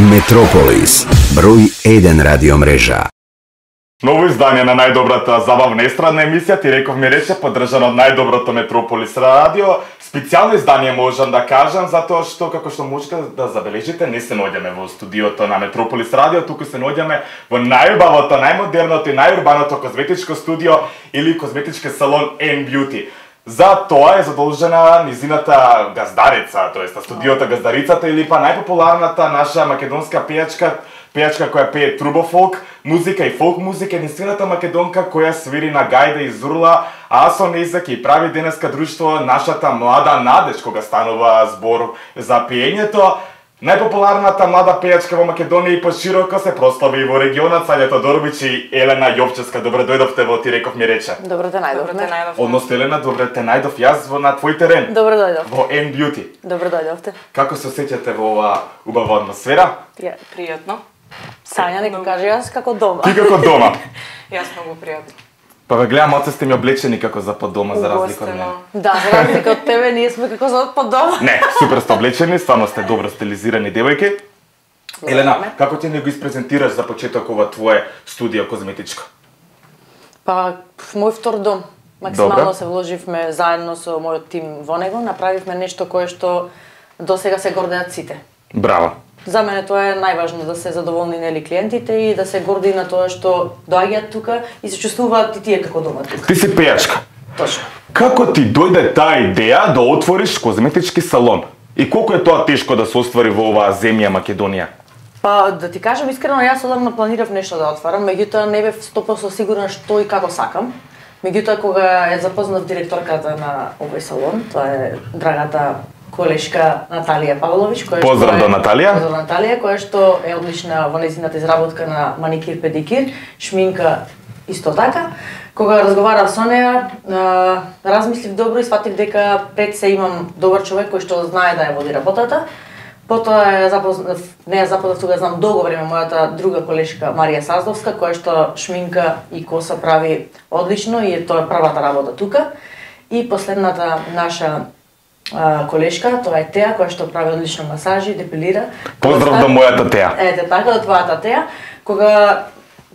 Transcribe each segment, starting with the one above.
Метрополис, број 1 радио мрежа. Ново издание на најдобрата забавна естрадна емисија, ти реков ми рече, поддржано од најдоброто Метрополис радио. Специјално издание можам да кажам, затоа што, како што можете да забележите, не се наоѓаме во студиото на Метрополис радио, туку се наоѓаме во најубавото, најмодерното и најурбаното козметичко студио или козметички салон N-Beauty. За тоа е задолжена низината газдарица, тоест студиото Газдарицата или па најпопуларната наша македонска пејачка која пее трубофолк музика и фолк музика, единствената македонка која свири на гајда и зурла, а со нејза ќе прави денеска друштво нашата млада надеж кога станува збор за пеењето. Најпопуларната млада пејачка во Македонија и пошироко се прослави и во регионот. Саѓа Тодоровиќ и Елена Јовчевска, добре дојдовте во Ти реков ми рече. Добре те најдов. Односно Елена, добре те најдов јас на твој терен. Добре дојдов. Во N-Beauty. Добре дојдовте. Како се осеќате во оваа убава атмосфера? Пријатно. Сања нека каже јас како дома. Ти како дома? Јас многу пријатно. Па ве гледам, оце сте ми облечени како за под дома, за разлика од мене. Да, за разлика од тебе, ние сме како за под дома. Не, супер сте облечени, стварно сте добро стилизирани девојки. Елена, како ти не го испрезентираш за почеток ова твое студио козметичко? Па, мој втор дом. Максимално се вложивме заедно со мојот тим во него, направивме нешто кое што досега се гордеат сите. Браво. За мене тоа е најважно, да се задоволни нели клиентите и да се горди на тоа што доаѓаат тука и се чувствуваат и тие како дома тука. Ти си пејачка. Точно. Како ти дојде таа идеја да отвориш козметички салон? И колку е тоа тешко да се оствари во оваа земја Македонија? Па, да ти кажам искрено, јас одамна планирав нешто да отварам, меѓутоа не бев 100% сигурна што и како сакам. Меѓутоа кога ја запознав директорката на овој салон, тоа е драгата колешка Наталија Павловиќ, која Поздрав до Наталија. Поздрав Наталија, која што е одлична во нејзината изработка на маникир, педикир, шминка исто така. Кога разговарав со неа, размислив добро и сфатив дека пред се имам добар човек кој што знае да ја води работата. Потоа неа запознав тога знам долго време мојата друга колешка Марија Саздовска, која што шминка и коса прави одлично и тоа е првата работа тука. И последната наша колешка, тоа е Теа, која што прави одлично масажи, депилира. Поздрав до мојата Теа. Ете така, до твојата Теа. Кога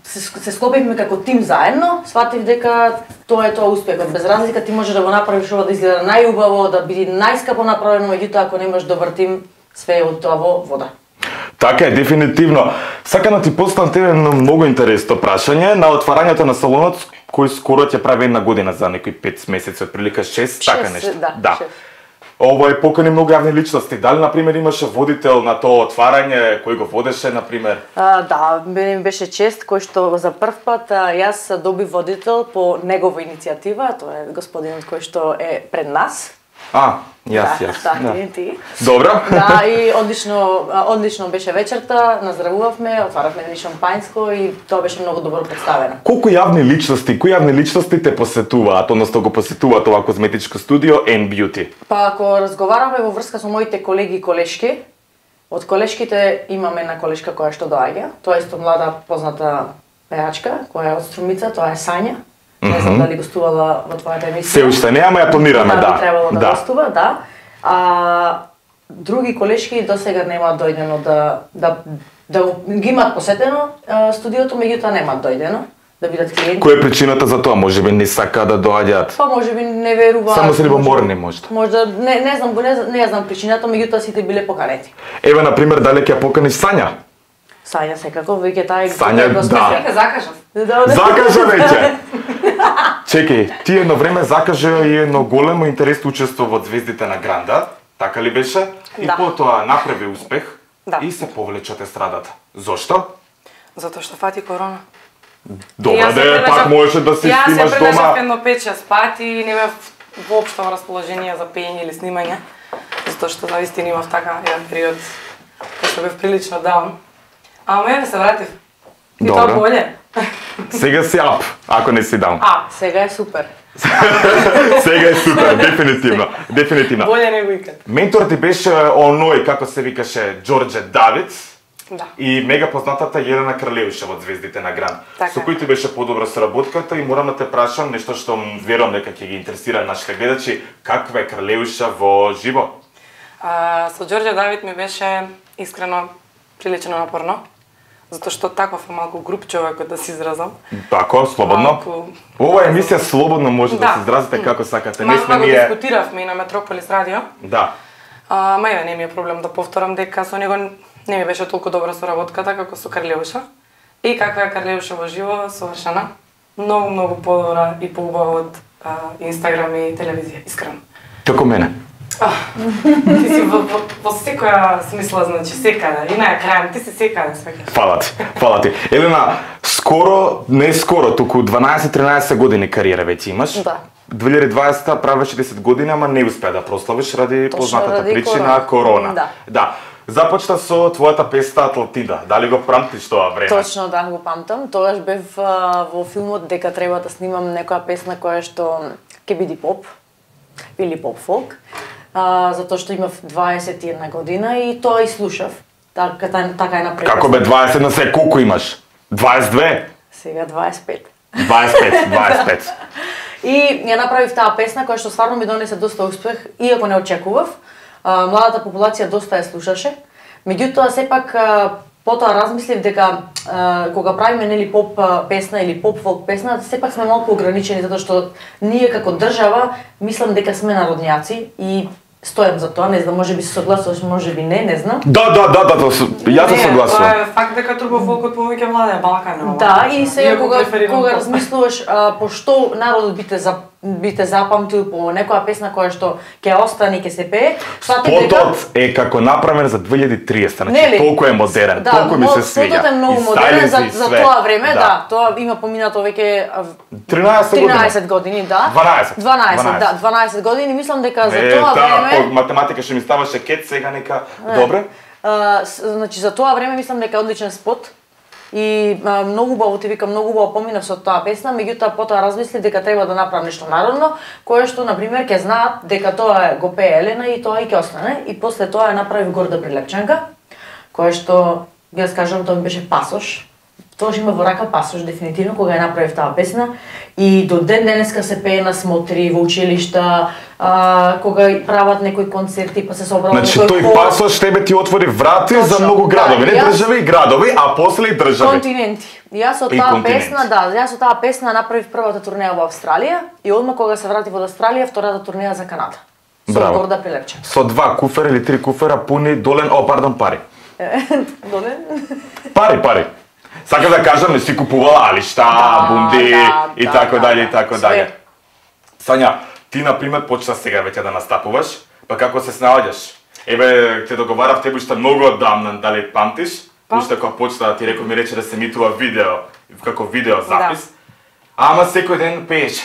се склопивме како тим заедно, сватив дека тоа е успехот. Без разлика ти може да го направиш ова да изгледа најубаво, да биде најскапо направено, меѓутоа ако немаш добар тим, све е од тоа во вода. Така е, дефинитивно. Сакам да ти поставам тебе многу интересно прашање на отварањето на салонот кој скоро ќе прави една година, за некои 5 месеци, отприлика 6, така нешто. Да. Ова е покани многу јавни личности. Дали, например, имаше водител на тоа отварање, кој го водеше, например? Да, ми беше чест, кој што за прв пат јас добив водител по негова иницијатива, тоа е господинот кој што е пред нас. Јас. Да, ти. Добро. Да, и одлично беше вечерта, наздравувавме, отваравме едни шампањско и тоа беше многу добро представено. Кои јавни личности те посетуваат, односно го посетуваат ова козметичко студио N-Beauty? Па ако разговараме во врска со моите колеги и колешки, од колешките имаме една колешка која што доаѓа, тоа е исто млада позната пејачка, која е од Струмица, тоа е Сања. Не знам дали гостувала во твојата емисија. Се уште не, ама ја планираме, да. Би требало да гостува, да. Други колешки досега немаат дојдено да ги имаат посетено студиото, меѓутоа немаат дојдено да бидат клиенти. Која е причината за тоа? Можеби не сака да доаѓаат? Па можеби не веруваат. Само се любоморни можда. Можда не ја знам причината, меѓутоа сите биле поканети. Еве на пример дали ќе поканиш Сања? Сања секако, веќе таа Сања, да. Закажав. Закажа веќе. Чекај, ти едно време закажа и едно големо интересно учество во Звездите на Гранда, така ли беше? И потоа направи успех и се повлече од естрадата. Зошто? Затоа што фати корона. Добре, пак можеше да се снимаш дома. Јас се прележав едно 5-6 пати и не бев воопшто во расположение за пеење или снимање, затоа што навистина имав така еден период кога што бев прилично даун. Ама еве се вратив. И тоа боле. Сега си ап, ако не си даун. Сега е супер. Сега е супер, дефинитивно. Боле него икад. Ментор ти беше оној, како се викаше, Ѓорѓе Давид. Да. И мега познатата Елена Кралеуша од Звездите на Гранд. Со кој ти беше подобра соработката и морам да те прашам нешто што верувам дека ќе ги интересира нашите гледачи, каква е Кралеуша во живо? Со Ѓорѓе Давид ми беше искрено прилично напорно, затоа што таков е малку груб човекот да се изразам. Тако, слободно. Ова емисија слободно може да се изразите како сакате. Не сме ние дискутиравме и на Метрополис радио. Да. Ама не ми е проблем да повторам дека со него не ми беше толку добра соработката како со Карлеуша. И каква е Карлеуша во живо, совршена. Многу подобра и поубава од Инстаграм и телевизија, искрено. Како мене. Ти си во секоја смисла, значи секаде, и на крајот ти си секаде свеќаш. Фала ти. Елена, не скоро, туку 12-13 години кариера веќе имаш. Да. 2020 правеше 10 години, ама не успеа да прославиш ради познатата причина корона. Да. Започна со твојата песна Атлантида. Дали го памтиш тоа време? Точно, да, го памтам. Тогаш бев во филмот дека треба да снимам некоја песна која што ќе биде поп или поп-фолк. Затоа што имав 21 година и тоа и слушав. Така е напред. Како бе 21 се колку имаш? 22? Сега 25. 25. И ја направив таа песна која што стварно ми донесе доста успех, иако не очекував. Младата популација доста ја слушаше. Меѓутоа сепак потоа размислив дека кога правиме нели поп песна или поп фолк песна, сепак сме малку ограничени затоа што ние како држава мислам дека сме народњаци и стојам за тоа, не знам, можеби се согласуваш, можеби не знам. Да, јас се согласувам. Тоа е факт дека турбофолкот повеќе владее Балканот. Да, и сега кога размислуваш пошто народот бите запамтил по некоја песна која што ќе остане и ќе се пее, спотот е како направен за 2030, значи толку е модерен, толку ми се свиѓа. Спотот е многу модерен за тоа време, да, тоа има поминато веќе 13 години, да. 12 години, мислам дека за тоа време математика што ми ставаше кет, сега нека добре. Значи за тоа време мислам дека е одличен спот. И многу убаво ти викам, многу убаво поминав со таа песна, меѓутоа потоа размислив дека треба да направам нешто народно, кое што на пример ќе знаат дека тоа го пее Елена и тоа и ќе остане. И после тоа ја направив Горда Прилепчанка, кое што јас кажам тоа ми беше пасош. Тоа има во рака пасош дефинитивно кога ја направив таа песна и до ден денеска се пее на смотри во училишта, кога прават некои концерти па се собрува некој хор. Значи тој пасош тебе ти отвори врати за многу градови, не држави и градови, а после и држави. Континенти. Јас со таа песна направив првата турнеја во Австралија и одма кога се вратив од Австралија, втората турнеја за Канада. Со Горда Прилепчанка. Со 2 куфера или 3 куфера пуни пари. Долен? Пари. Сакам да кажам, не си купувала алишта, бунди и така дале. Сања, ти на пример почна сега веќе да настапуваш, па како се снаоѓаш? Еве, те договарав тебе уште многу одамна, дали памтиш? Уште кога почна ти реков ми рече да се емитува видео, како видео запис. Ама секој ден пееш.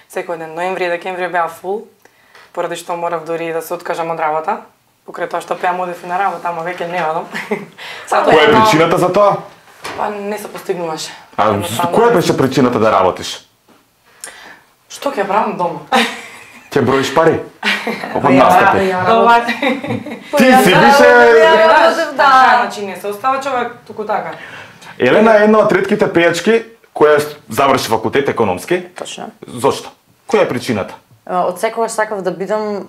Секој ден, ноември и декември беа фул, поради што морав дури да се откажам од работа. Покрај тоа што пеам одев и на работа, ама веќе не одам. Која е причината за тоа? Па не се постигнуваше. Која беше причината да работиш? Што ќе правам дома? Ќе броиш пари? Од настапи. Ти си беше... Да, значи не се остава човек туку така. Елена е една од ретките пејачки која заврши факултет економски. Точно. Зошто? Која е причината? Од секогаш сакав да бидам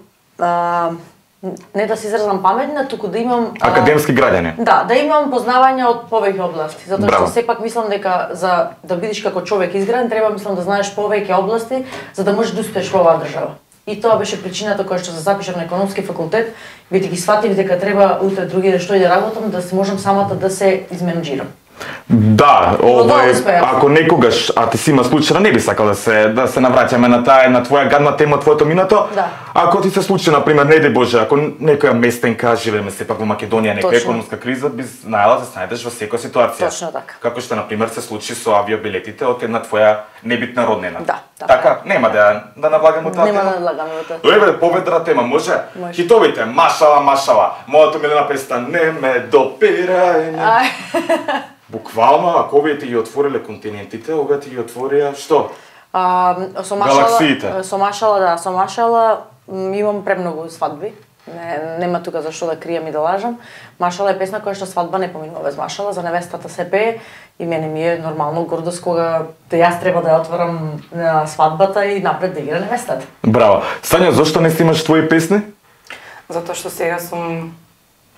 не да се изразам паметна, туку да имам академски граѓани. Да имам познавање од повеќе области, затоа што сепак мислам дека за да бидеш како човек изграден треба мислам да знаеш повеќе области за да можеш да успееш во оваа држава. И тоа беше причината која што се запишав на економски факултет, бидејќи сфатив дека треба утре другиде што и да работам да се можам самата да се изменеджирам. Да, ако некогаш, а ти си има случајно, не би сакал да се навраќаме на твоја гадна тема, твоето минато. Да. Ако ти се случи, например, не ди Боже, ако некоја местенка, живееме сепак во Македонија, некоја економска криза, би знаела да се најдеш во секоја ситуација. Точно така. Како што например се случи со авиобилетите од една твоја небитна роднина. Да. Така, нема да навлагаме таа тема. Нема да навлагаме таа тема. Еве, поведра тема, може? Хитовите, машала, мојата милена песна не ме допирај. Буквално, ако овие ти ги отвориле континентите, овие ти ги отворија што? Галаксиите. Со Машала имам премногу свадби. Нема тука за што да кријам и да лажам. Машала е песна која што свадба не поминува без Машала, за невестата се пее и мене ми е нормално гордост кога јас треба да ја отворам свадбата и напред да игра невестата. Браво. Сања, зошто не снимаш твои песни? Затоа што сега сум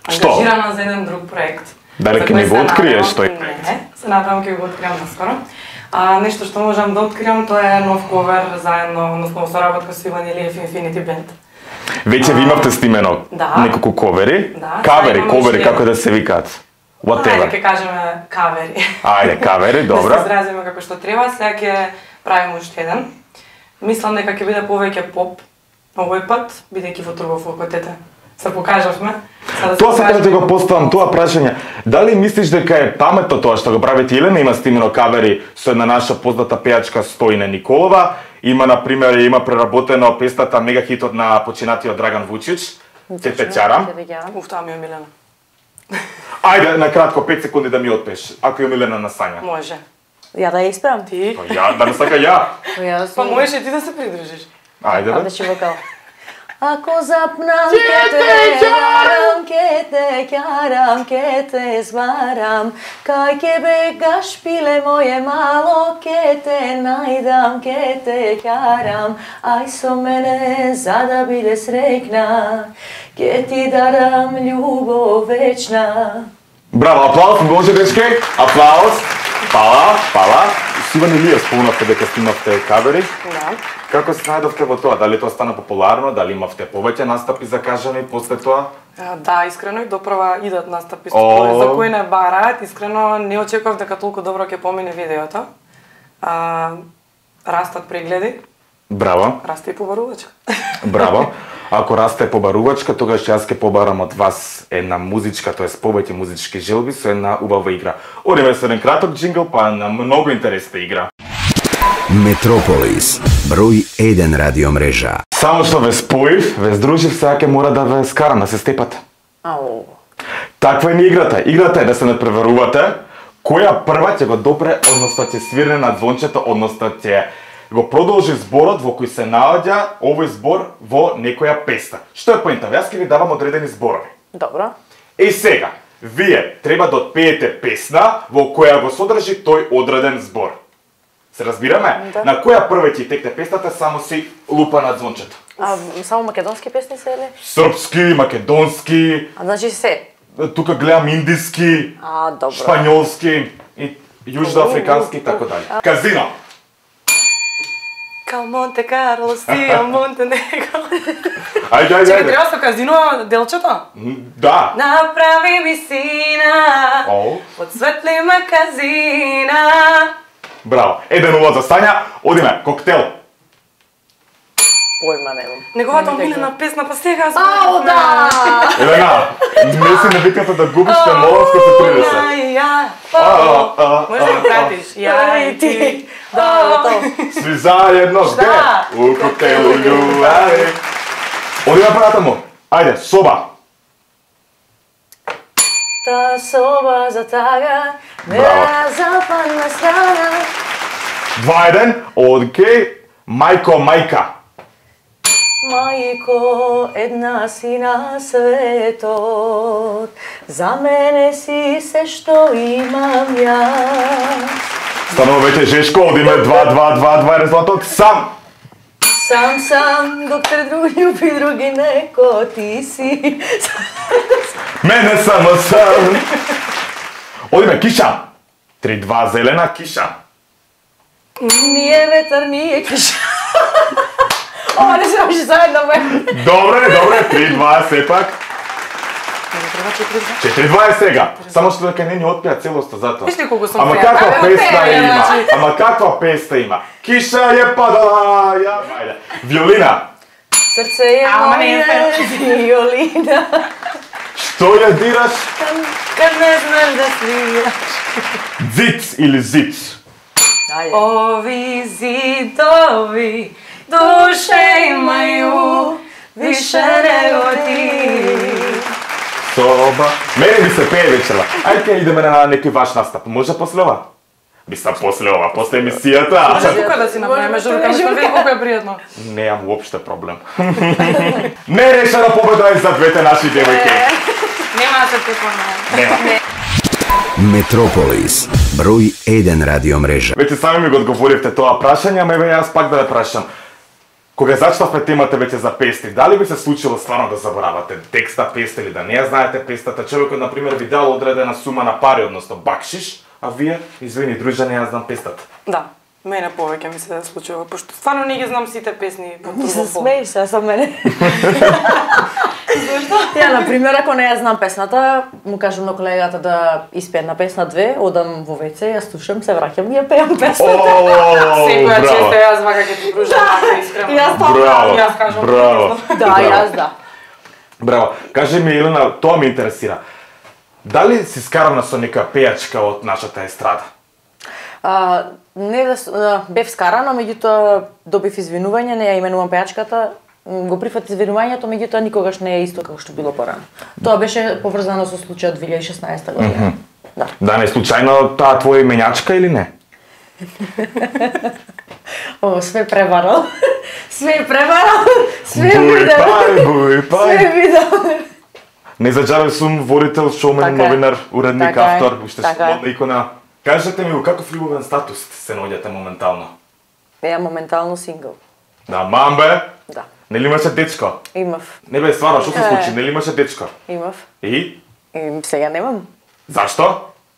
ангажирана за еден друг проект. Дали ќе ни го откриеш тој проект? Не, се надевам ќе го откриам наскоро. Нешто што можам да откриам, тоа е нов ковер заедно, односно соработка со Иван Илиев Infinity Band. Веќе ви имавте снимено неколку ковери? Да. Ковери, како да се викаат? Whatever. Ајде, ќе кажеме кавери. Ајде, кавери, добро. Да се изразиме како што треба, сега ќе правиме уште еден. Мислам дека ќе биде повеќе поп овој пат, бидејќи во Турбо факултете се покажавме. Тоа сакам да ти го поставам тоа прашање. Дали мислиш дека е паметно тоа што го правите Елена? Има снимено кавери со една наша позната пејачка Стојна Николова. Има, например, преработено песната мегахитот на починатиот Драган Вучич. Те чарам. Тоа ми е Милена. Ајде, на кратко, 5 секунди да ми отпеш, ако е Милена на Сања. Може. Ја да ја исправам? Ти? Па ја, да не сака ја. Па можеш и ти да се придружиш. Ајде, бе. Беше вокал. Ако запнам ке те ќарам, ке те зварам, кај ке бегаш пиле моје мало, ке те најдам, ке те ќарам, ај со мене за да биде среќна, ке ти дарам љубов вечна. Браво, аплауз, може дечки? Аплауз. Фала. Иван Илиев спомнавте дека снимавте кавери. Да. Како се најдовте во тоа? Дали тоа стана популарно? Дали имавте повеќе настапи закажани после тоа? Да, искрено и допрва идат настапи за кои не бараат. Искрено не очекував дека толку добро ќе помине видеото. Растат прегледи. Браво. Расте и побарувачка. Браво. Ако расте побарувачка, тогаш јас ќе побарам од вас една музичка, тоест повеќе музички желби со една убава игра. Одиме со еден краток джингл, па на многу интересна игра. Метрополис, број 1 радиомрежа. Само што ве споив, ве здружив, сега ќе мора да ве скарам, да се степате. Ау. Таква е ни играта. Играта е да се надпреварувате која прва ќе го допре, односно ќе свирне на звончето, односно ќе го продолжи зборот во кој се наоѓа овој збор во некоја песна. Што е поента? Јас ќе ви давам одредени зборови. Добро. И сега, вие треба да отпеете песна во која го содржи тој одреден збор. Се разбираме? Да. На која прва ќе текне песната, само си лупа на звончето. Само македонски песни се или? Српски, македонски, Значи се. тука гледам индиски, Добро. шпањолски и јужноафрикански и така дали. Казино. Као Монте Карло, Сија, Монтенегро. Ајде. Чекай, треба со казино делчето? Да. Направи ми сина, подсветли ме казина. Браво. 1-0 за Сања. Одиме, коктел. Појма немам. Неговата омилена песна, па сега Ау, да! Елена, не си навикната да губиш, те молам се 30. Може да го пратиш? Ја и ти. Сви заедно, где? У коктелу љубави. Одиме пратамо. Ајде, соба. Та соба за тага, на западна страна. 2-1, окей. Мајко, мајка. Мајко, една си на светот, за мене си се што имам јас. Станува веќе жешко, одиме 2-2 резултатот. Сам. Сам, док те друг љуби, други неко ти си. Мене само сам. Одиме, киша. 3-2 зелена, киша. Nije vetar, nije kiša. Ovo ne se može zajedno me. Добре, 3-2 сепак. 4-2 е сега. Само што дека не ни отпеа целоста затоа. Виж ли колку сум Ама феа? каква Абе, песна отпеа, има? значи. Ама каква песна има? Киша е падала, ја. Ајде. Виолина. Srce je Ама не е moje violina. Што ја дираш? Kad ne znaš da sviraš. Зиц или зиц? Ovi zidovi duše imaju više nego ti. Соба. Мене ми се пее вечерва. Ајде идеме на некој ваш настап. Може после ова? Мислам после ова, после емисијата. Може тука да си направиме журка, ми види колку е пријатно. Неам уопште проблем. Нерешена победа е за двете наши девојки. Нема да се тепаме. Нема. Метрополис, број 1 радиомрежа. Веќе сами ми го одговоривте тоа прашање, ама еве јас пак да ве прашам. Кога зачнавме темата веќе за песни, дали би се случило стварно да заборавате текста песни или да не ја знаете песната? Човекот на пример ви дал одредена сума на пари, односно бакшиш, а вие, извини, дружа, не ја знам песната. Да, мене повеќе ми се случува, пошто стварно не ги знам сите песни по Не се Турбопол. смееш се со мене. Ја, на пример, ако не ја знам песната, му кажам на колегата да испее една песна 2, одам во WC, ја слушам, се враќам и ја пеам песната. Секоја браво. често јас вака ќе ти дружам, ако искрено. Јас тоа Браво, Јас кажам, браво. Да, Браво. јас да. Браво. Кажи ми, Елена, тоа ме интересира. Дали си скарана со нека пејачка од нашата естрада? Не да бев скарана, меѓутоа добив извинување, не ја именувам пејачката, го прифат извинувањето, меѓутоа никогаш не е исто како што било порано. Тоа беше поврзано со случајот 2016 година. Да. Да, не случајно таа твоја именјачка или не? О, све преварал. Све преварал. Све Буј видел. пај, буј пај. Све видел. Не заџавен сум водител, шоумен, Така е. новинар, уредник, Така е. автор, уште Така е. слободна икона. Кажете ми, во каков љубовен статус се наоѓате моментално? Ја моментално сингл. Да, мамбе, Да. нели имаше дечко? Имав. Не бе, стварно, што се Е. случи? Нели имаше дечко? Имав. И? И сега немам. Зашто?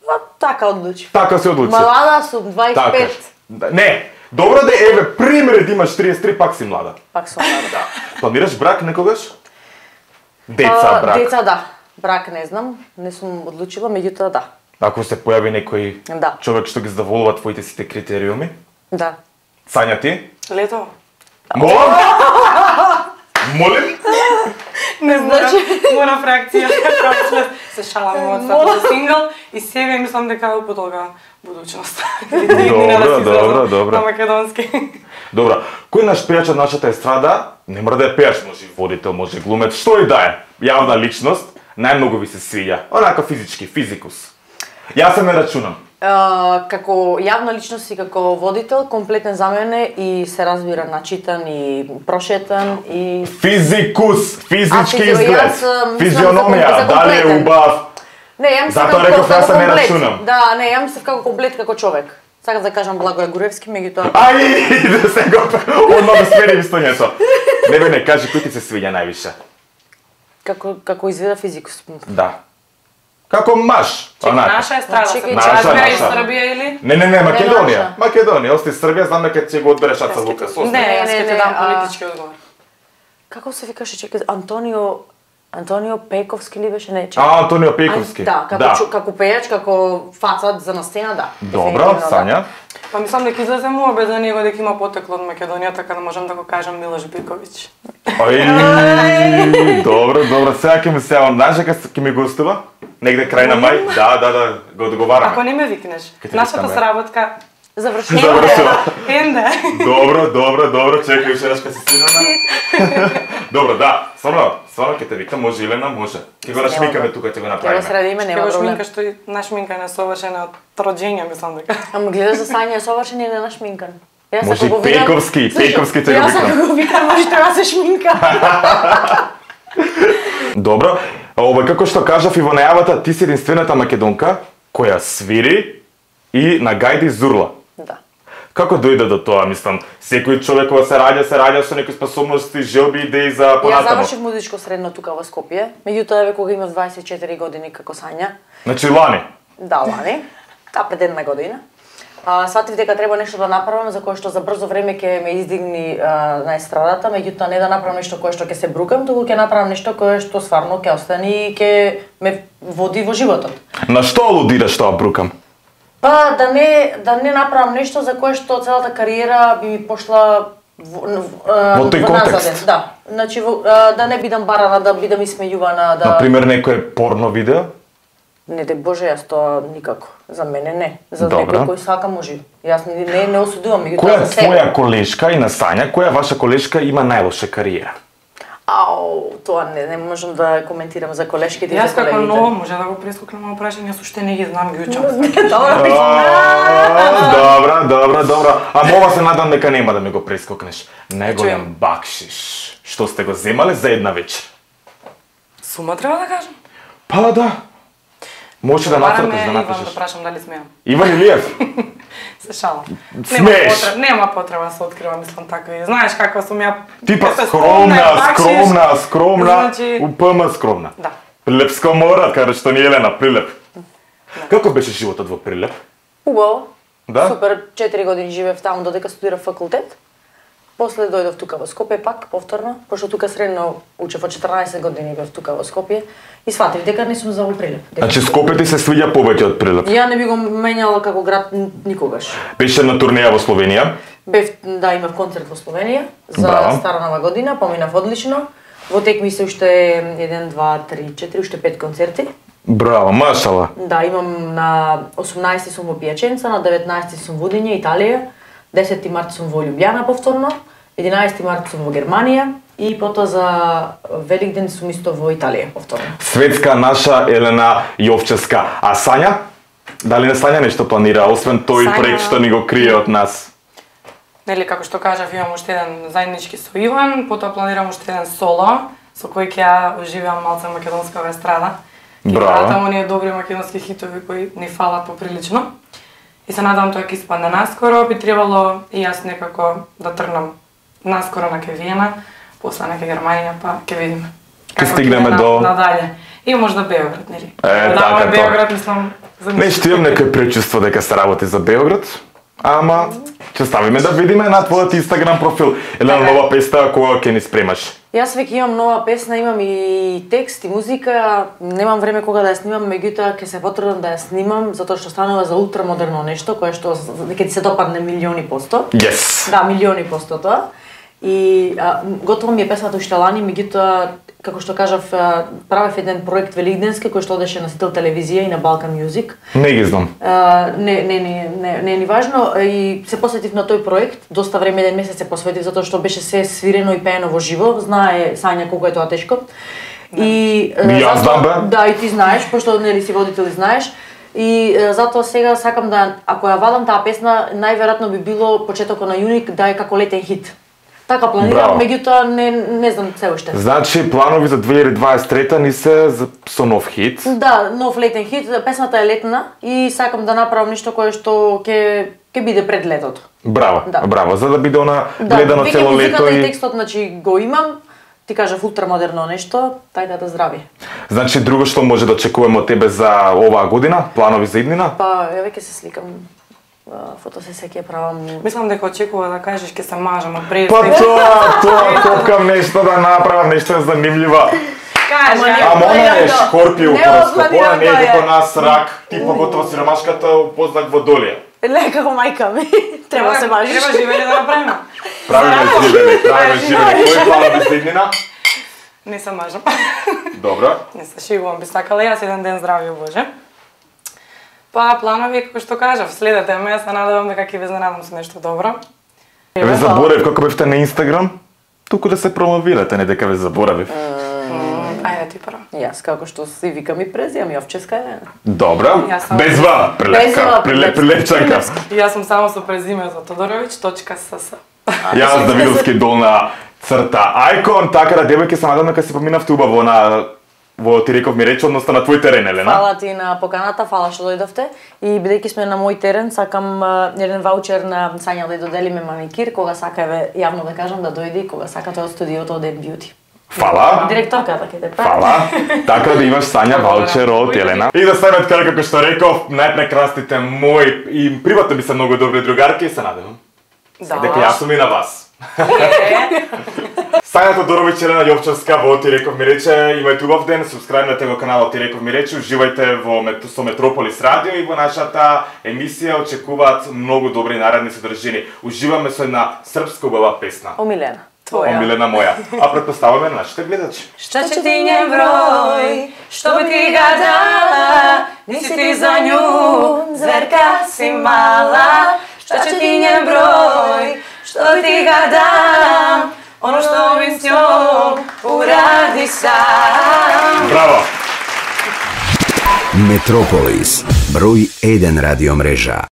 Ма, така одлучив. Така се одлучи. Млада сум, 25. Така. Да, не, добро да еве, пример да имаш 33, пак си млада. Пак сум млада. Да. Планираш брак некогаш? Деца, брак. Деца, да. Брак не знам, не сум одлучила, меѓутоа да. Ако се појави некој Да. човек што ги задоволува твоите сите критериуми, Да. Сања ти? Лето. Молам? Молим? Не знам, мора фракција. Се шалам од статус сингл и сега мислам дека е потолга будучност. Добро. На македонски. Добро. Кој наш пејач од нашата естрада, не мора да е пејач, може и водител, може и глумец, што и да е, јавна личност, најмногу ви се свиѓа? Онака физички, физикус. Јас се не рачунам. Како јавна личност и како водител, комплетен за мене и се разбира начитан и прошетан и Физикус, физички А, изглед, јас, мислам физиономија, за дали е комплетен. убав. не, ја мислам Затоа реков, јас се не комплет. рачунам. Да, не, ја мислам како комплет како човек. Сакам да кажам Благој Гуревски, меѓутоа Ај, да се го одма да смери истоњето. Не бе, не, кажи кој ти се свиѓа највише. како изгледа физикус. Да. Како маж, онака. Наша естрада. Чекај, Наша, Разбира наша. из Србија или? Не, Македонија. наша. Македонија, ости Србија, знам дека ќе го одбереш Аца Лукас. Не, јас ќе ти не, дам а- политички одговор. Како се викаше, чекај, Антонио Пековски ли беше, не, чекај. Антонио Пековски. Да, како пејач, како фацад за на сцена, да. Добро, Дефинитивно, да. Сања. Па мислам дека излезе му без за него дека има потекло од Македонија, така да можам да го кажам Милош Биковиќ. Ај, добро, сега ќе ми се јавам. Знаеш дека ќе ми гостува? Негде крај на мај? Да, го договараме. Ако не ме викнеш, Ке те нашата викаме. сработка Завршено. Завршила. енде. Добро, чекај уште еднаш кога се снимаме. Добро, да, стварно ќе те викам, може Илена, може. Ќе го нашмикаме тука, ќе го Ќе го направиме. средиме, Ќе нема го проблем. шминка што и нашминка не совршена од роđење, мислам дека. Ама гледаш за Сања е совршен и не нашминкан. Јас Може ако и го видам- Пековски ќе го Јас викам. ако го викам, може треба да се шминка. Добро, како што кажав и во најавата, ти си единствената македонка која свири и на гајди зурла. Да. Како дојде до тоа, мислам, секој човек кога се раѓа со некои способности, желби, идеи за Јас понатаму. завршив музичко средно тука во Скопје, меѓутоа еве кога имав 24 години како Сања, Значи лани. да, лани, пред една година, сватив дека треба нешто да направам за кое што за брзо време ќе ме издигни на естрадата, меѓутоа не да направам нешто кое што ќе се брукам, туку ќе направам нешто кое што стварно ќе остане и ќе ме води во животот. На што алудираш тоа брукам? Па да не направам нешто за кое што целата кариера би ми пошла Во тој контекст? Да. Значи да не бидам барана, да бидам исмејувана, да Например, некое порно видео? Не де Боже, јас тоа никако. За мене не. За Добро. некој кој сака може. Јас не осудувам, меѓутоа Која за себе. твоја колешка и на Сања, која ваша колешка има најлоша кариера? Ау, тоа не можам да коментирам за колешките и Јас за како колегите. ново може да го прескокнам на прашање, јас уште не ги знам, ги учам. Добро. А ова се надам дека нема да ми го прескокнеш. Неголем бакшиш. Што сте го земале за една вечер? Сума треба да кажам. Па да. Може да Бараме натрпиш, да Иван да напишеш. прашам дали смеам. Иван Илиев. Се шалам. Смееш. Нема потреба да се открива, мислам такви. Знаеш каква сум ја. Типа Ќе се скромна, Значи- упама скромна. Да. Прилепска мора, каде што ни Елена, Прилеп. Како беше животот во Прилеп? Убаво. Да? Супер, 4 години живеев таму додека студирав факултет. После дојдов тука во Скопје пак, повторно, пошто тука средно учев од 14 години бев тука во Скопје и сватив дека не сум за во Прилеп. Значи Скопје ти се свиѓа повеќе од Прилеп. Ја не би го менјала како град никогаш. Беше на турнеја во Словенија. Бев, да, имав концерт во Словенија за Браво. Стара нова година, поминав одлично. Во текми се уште 1, 2, 3, 4, уште 5 концерти. Браво, машала. Да, имам на 18 сум во Пијаченца, на 19 сум во Удиње, Италија, 10 март сум во Љубљана повторно, 11 март сум во Германија и потоа за Великден сум исто во Италија повторно. Светска наша Елена Јовчевска. А Сања? Дали не Сања нешто планира, освен тој Сања- проект што ни го крие од нас? Нели, како што кажав, имам уште еден заеднички со Иван, потоа планирам уште еден соло, со кој ќе ја уживам малце македонска естрада. Браво. Ќе оние добри македонски хитови кои ни фалат поприлично. И се надам тоа ќе испадне наскоро, би требало и јас некако да тргнам наскоро на Виена, после на Германија, па ќе видиме. Ќе стигнеме до надале. И можда Београд, нели? Така Да, тоа. Београд мислам за Нешто имам некој пречувство дека се работи за Београд, ама ќе ставиме да видиме на твојот Инстаграм профил. Елена, Така е. нова песна која ќе ни спремаш. Јас веќе имам нова песна, имам и текст и музика, немам време кога да ја снимам, меѓутоа ќе се потрудам да ја снимам затоа што станува за ултрамодерно нешто кое што ќе ти се допадне милиони посто. Yes. Да, милиони посто тоа. И готово ми е песната уште лани, меѓутоа како што кажав, правев еден проект великденски кој што одеше на Сител телевизија и на Balkan Music. Не ги знам. Не е ни важно и се посветив на тој проект, доста време, еден месец се посветив затоа што беше се свирено и пеено во живо, знае Сања колку е тоа тешко. И јас знам, бе. Да, и ти знаеш, пошто нели си водител и знаеш. И затоа сега сакам да, ако ја вадам таа песна, најверојатно би било почетокот на јуни да е како летен хит. Така планирам, Браво. меѓутоа не знам се уште. Значи, планови за 2023 ни се со нов хит. Да, нов летен хит, песната е летна и сакам да направам нешто кое што ќе биде пред летото. Браво, Да. браво, за да биде она Да, гледано веќе цело музиката лето и и... текстот, значи го имам, ти кажав ултрамодерно нешто, тај да здрави. Значи, друго што може да очекуваме од тебе за оваа година, планови за иднина? Па, ја веќе се сликам, фотосесија ќе правам. Мислам дека очекува да кажеш ќе се мажам од пред. Па тоа, кокам нешто да направам, нешто е занимлива. Кажа. Ама она е Шкорпио Не просто, опланирано она не е е. како нас рак, типа готово сиромашката познак водолија. Не, како мајка ми, треба да се мажиш. Треба живење да направиме. Правиме живење. Кој планови за иднина? Не се мажам. Добро. Не се шегувам, би сакала јас еден ден здравје Боже. Па планови, како што кажав, следете ме, јас се надевам дека ќе ве изненадам со нешто добро. Ве заборев како бевте на Инстаграм? Туку да се промовирате, не дека ве заборавив. Ајде ти прво. Јас како што си викам и презијам Јовчевска Елена. Добро. Јас сам- Без ва, прилепка, Без ва, прилепчанка. Јас сум само со презимето Тодоровиќ.сс. Јас Давидовски долна црта Ајкон, така да девојки се надам дека се поминавте убаво на во ти реков ми речи, односно на твој терен, Елена. Фала ти на поканата, фала што дојдовте. И бидејќи сме на мој терен, сакам еден ваучер на Сања да ја доделиме маникир, кога сака еве јавно да кажам да дојде и кога сака тоа од студиото од Ed Beauty. Фала. Директорката ќе те прави. Фала. Така да имаш Сања ваучер од Елена. И да ставиме така како што реков, најпрекрасните мои и приватно би се многу добри другарки и се надевам дека јас сум и на вас. Сања Тодоровиќ, Елена Јовчевска во Ти реков ми рече, имајте убав ден, субскрајбнете го каналот Ти реков ми рече, уживајте со Метрополис радио и во нашата емисија очекуваат многу добри наредни содржини. Уживаме со една српска убава песна. Омилена. Омилена моја. А претпоставуваме на нашите гледачи. Што ќе ти нjen број, што би ти ga dala, nisi ti za nju, zverka si mala. Šta će ti njen broj, što bi ti ga dam, ono što bi s njom uradi sam. Браво! Метрополис, број 1 радиомрежа.